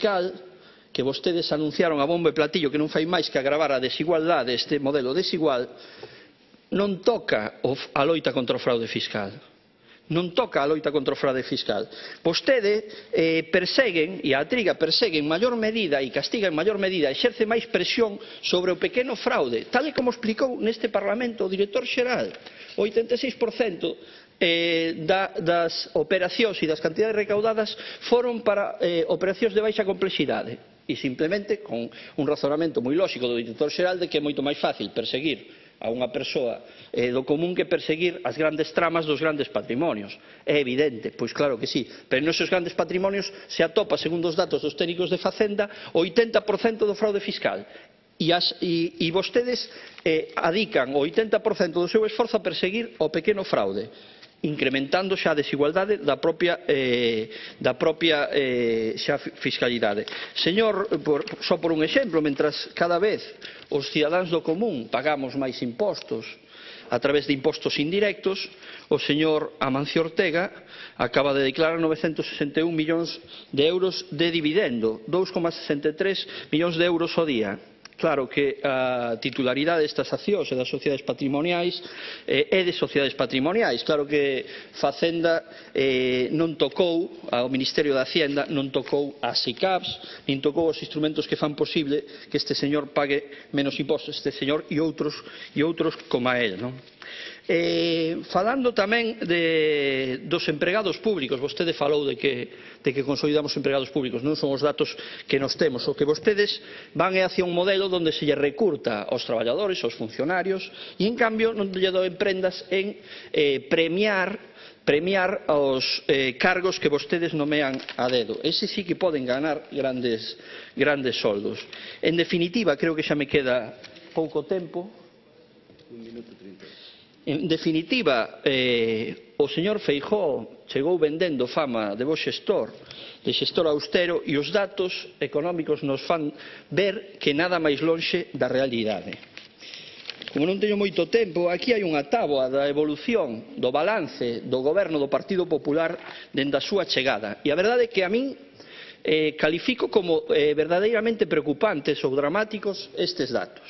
fiscal que vostedes anunciaron a bombo e platillo que non fai máis que agravar a desigualdade, este modelo desigual, non toca a loita contra o fraude fiscal. Non toca a loita contra o fraude fiscal. Vostede perseguen, e a Triga persegue en maior medida e castiga en maior medida, exerce máis presión sobre o pequeno fraude, tal e como explicou neste Parlamento o director xeral. O 86% das operacións e das cantidades recaudadas foron para operacións de baixa complexidade. E simplemente con un razonamento moi lóxico do director xeral de que é moito máis fácil perseguir a unha persoa do común que perseguir as grandes tramas dos grandes patrimonios. É evidente, pois claro que sí, pero neses grandes patrimonios se atopa, segundo os datos dos técnicos de Facenda, o 80% do fraude fiscal. E vostedes adican o 80% do seu esforzo a perseguir o pequeno fraude, incrementando xa a desigualdade da propia fiscalidade. Señor, só por un exemplo, mentras cada vez os cidadáns do común pagamos máis impostos a través de impostos indirectos, o señor Amancio Ortega acaba de declarar 961 millóns de euros de dividendo, 2,63 millóns de euros ao día. Claro que a titularidade destas accións e das sociedades patrimoniais é de sociedades patrimoniais. Claro que Facenda non tocou, ao Ministerio de Hacienda non tocou as SICAPs, nin tocou os instrumentos que fan posible que este señor pague menos impostos, este señor e outros como a él, non? Falando tamén dos empregados públicos, vostede falou de que consolidamos empregados públicos, non son os datos que nos temos. O que vostedes van é hacia un modelo onde se lle recurta aos traballadores, aos funcionarios, e en cambio non lle doen prendas en premiar os cargos que vostedes nomean a dedo. Ese sí que poden ganar grandes soldos. En definitiva, creo que xa me queda pouco tempo. Un minuto 30. En definitiva, o señor Feijóo chegou vendendo fama de bo xestor, de xestor austero, e os datos económicos nos fan ver que nada máis lonxe da realidade. Como non teño moito tempo, aquí hai unha táboa da evolución do balance do goberno do Partido Popular dende a súa chegada. E a verdade é que a min califico como verdadeiramente preocupantes ou dramáticos estes datos.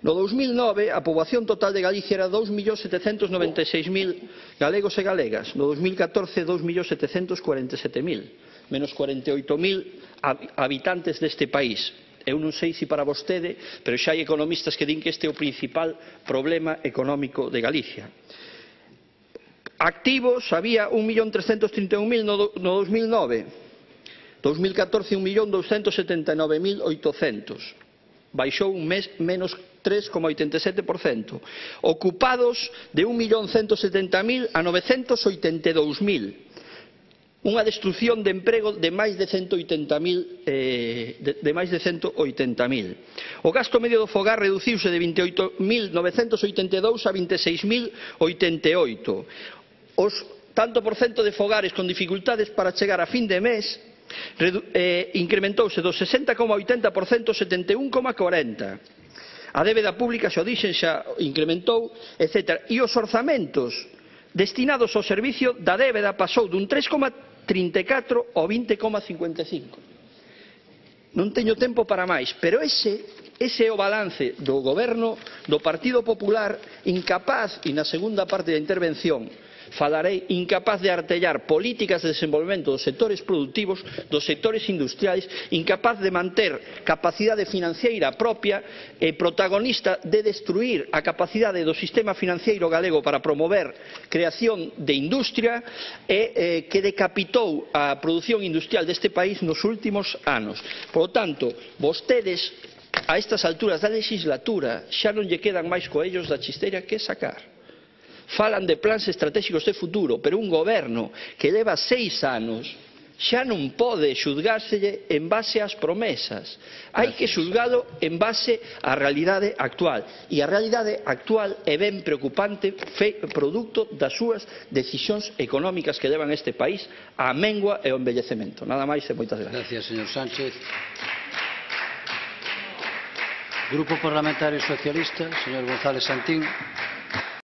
No 2009, a poboación total de Galicia era 2.796.000 galegos e galegas. No 2014, 2.747.000, menos 48.000 habitantes deste país. Eu non sei se para vostede, pero xa hai economistas que din que este é o principal problema económico de Galicia. Activos había 1.331.000 no 2009. 2014, 1.279.800. Baixou un mes menos 3,87%. Ocupados de 1.170.000 a 982.000. Unha destrucción de emprego de máis de 180.000. O gasto medio do fogar reduciuse de 28.982 a 26.088. Os tanto por cento de fogares con dificultades para chegar a fin de mes incrementouse do 60,80% ao 71,40%. A débeda pública, xa o dixen, xa incrementou, etc. E os orzamentos destinados ao servicio da débeda pasou dun 3,34 ao 20,55. Non teño tempo para máis, pero ese é o balance do goberno do Partido Popular, incapaz, e na segunda parte da intervención falarei, incapaz de artellar políticas de desenvolvemento dos sectores productivos, dos sectores industriais, incapaz de manter capacidade financiera propia e protagonista de destruir a capacidade do sistema financiero galego para promover creación de industria e que decapitou a produción industrial deste país nos últimos anos. Por lo tanto, vostedes, a estas alturas da legislatura, xa non lle quedan máis coellos da chisteira que sacar. Falan de plans estratégicos de futuro, pero un goberno que leva 6 anos xa non pode xulgárselle en base ás promesas. Hai que xulgalo en base á realidade actual. E a realidade actual é ben preocupante, produto das súas decisións económicas que levan este país á mengua e ao envellecemento. Nada máis e moitas gracias. Gracias, señor Sánchez. Grupo Parlamentario Socialista, señor González Santín.